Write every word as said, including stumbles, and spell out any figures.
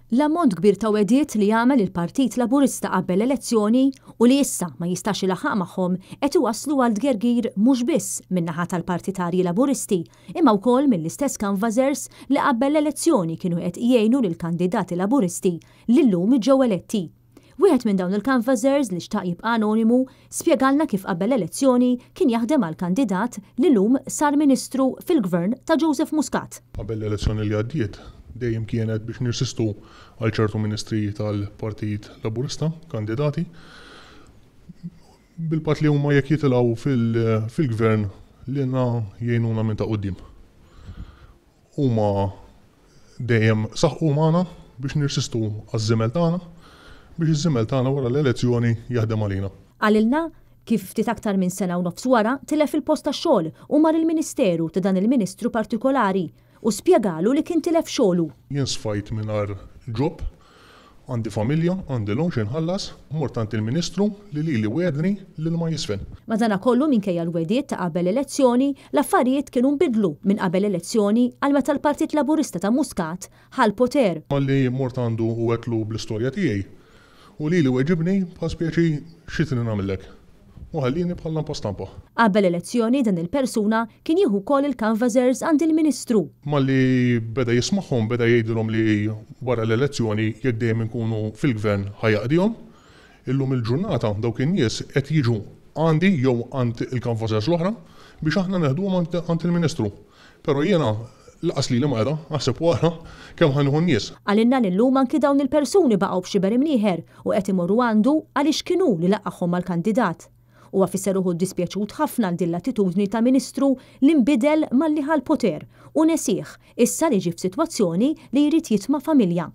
L-ammont kbir ta' wegħdiet li għamel il-Partit Laburista qabel l-elezzjoni u li issa ma jistax ilaħħaq magħhom qed iwasslu għal tgergir mhux biss min-naħa tal-partitarji Laburisti imma wkoll mill-istess canvassers li qabel l-elezzjoni kienu qed jgħinu lill-kandidati Laburisti li llum ġew eletti. Wieħed minn dawn il-canvassers li xtaq jibqa' anonimu spjegalna kif qabel l-elezzjoni kien jaħdem għal kandidat li llum sar ministru fil-gvern ta' Joseph Muscat. Qabel l-elezzjoni li għaddiet dejjem kienet biex nirsistu għal ċertu ministri tal-Partit Laburista, kandidati, bil-pat li huma jekk jitilgħu fil-gvern lilna jgħinuna minn ta' quddiem. Huma dejjem saħqu magħna biex nirsistu għaż-żimel tagħna biex iż-żimel tagħna wara l-elezzjoni jaħdem għalina. Qalilna kif ftit aktar minn sena u nofs wara tilef il-post tax-xogħol u mar il-Ministeru ta' dan il-Ministru partikolari u spjegalu li kien tilef xogħlu. Jien sfajt mingħajr job, għandi familja, għandi loan x'inħallas, mort għand il-Ministru li lili wegħedni li ma jisfen. Madanakollu minkejja l-wegħdiet ta' qabel elezzjoni, l-affarijiet kienu nbidlu minn qabel elezzjoni għal meta l-Partit Laburista ta' Muscat ħa l-poter. Malli mort għandu u għedtlu bl-istorja tiegħi u lili weġibni bħal speċi xi trid nagħmellek. U ħallini bħal lampa stampa. Qabel elezzjoni dan il-persuna kien jieħu wkoll il-canvassers għand il-Ministru. Malli beda jismagħhom beda jgħidilhom li wara l-elezzjoni jekk dejjem inkunu fil-gvern ħa jaqdihom. Illum il-ġurnata dawk in-nies qed jiġu għandi jew għand il-canvassers l-oħra biex aħna neħduhom għand il-Ministru. Però jiena lanqas lili ma qeda, aħseb wara kemm ħa nieħu n-nies. Qalilna li llum anki dawn il-persuni baqgħu b'xiber imnieħer u qed imorru għandu għaliex kienu li laqqagħhom mal-kandidat. Huwa fisser uħud dispjaċut ħafna għal din l-attitudni ta' Ministru li nbidel malli ħa l-poter u nesih issa li ġie f'sitwazzjoni li jrid jitma' familja.